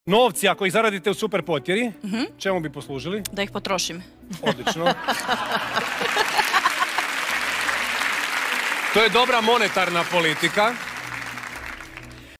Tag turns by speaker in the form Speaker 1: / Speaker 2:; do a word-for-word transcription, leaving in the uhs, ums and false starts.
Speaker 1: Novci, ako ih zaradite u super potjeri, čemu bi poslužili?
Speaker 2: Da ih potrošim.
Speaker 1: Odlično.
Speaker 3: To je dobra monetarna politika.